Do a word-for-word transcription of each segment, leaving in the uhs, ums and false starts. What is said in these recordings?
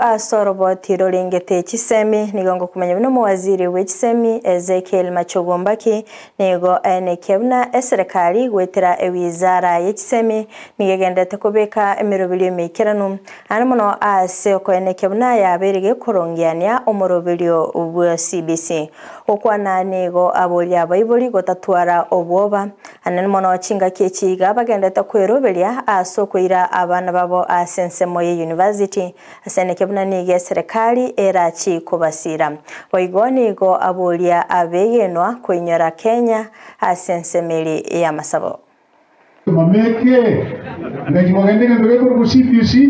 Ase oroboti rorengete chisemi nigo ngokumanya buna omowaziri bwa chisemi Ezekiel Machogu Mbaki nigo aenekia buna eserekari gwetera ewizara ya chisemi nigo egendete kobeka emeroberio emeikeranu ane mono ase okoenekia buna yabeire gekorongeania omoroberio bwa C B C okwana nigo aboria abaibori gotatwara obwoba anene mono chingaki echiga bagendete kweroberia ase okoira abana babo ase ensemo ya university ase enekia buna nigo eserekari erachi kobasira boigo nigo aboria abegenwa koinyora Kenya ase ensemeri ya masabo. Mameke ngachibagende ngento gekorwa C B C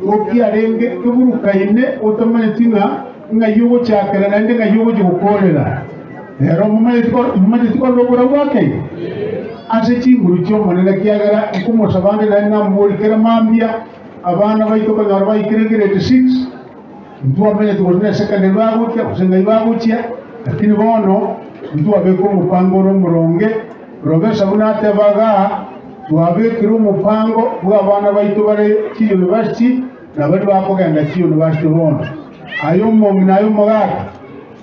okiarenge keburukaine otamanyeti ng'a ng'ai ogochakera naende ng'ai ogochi gokorera rero mumanyeti korora obora bwakei ase chinguru chiomonene kiagera nkomosabande naende namborikere mambia abana baito konyora baikire grade six ntwamenyete gose na secondary bagochia gose ng'ai bagochia, lakini bono ntwabeka omopango ore omoronge Profesa buna atebaga twabekire omopango bwa abana baito bare chiuniversity na bari bakogenda chiuniversity bono ayo omong'ina ayo omogaka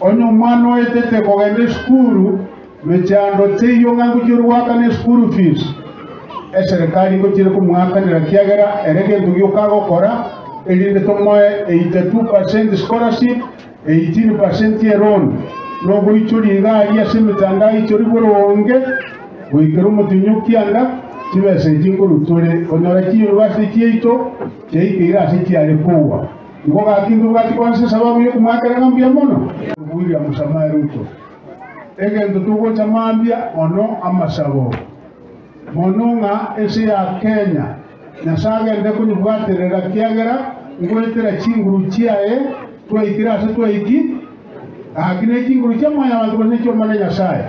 onye omwana oetete kogenda esukuru mechando teiyo ng'a ngochia goakana eschool fees eserikali ngochire komwakanera kiagera ere gento giokagokora erinde tomoe eighty-two percent scholarship, eighteen percent eloan nogoichoria igari ase emitandao ichori boronge goikera omotinyu kianda chibesa echi nkorutore konyora chiuniversity chiaito chiaikeire ase chiare kowa igo gakintu bwati kwansa sababu yokomwakerera mbuya mono William Samoei Ruto egento tugocha mambia ono amasabo mono ng'a ase ya Kenya Nyasaye agende konyibwaterera kiagera ngwetera chinguru chiaye twaikire ase twaiki gaki na chinguru chia mwanya bantu gose chiomana Nyasaye.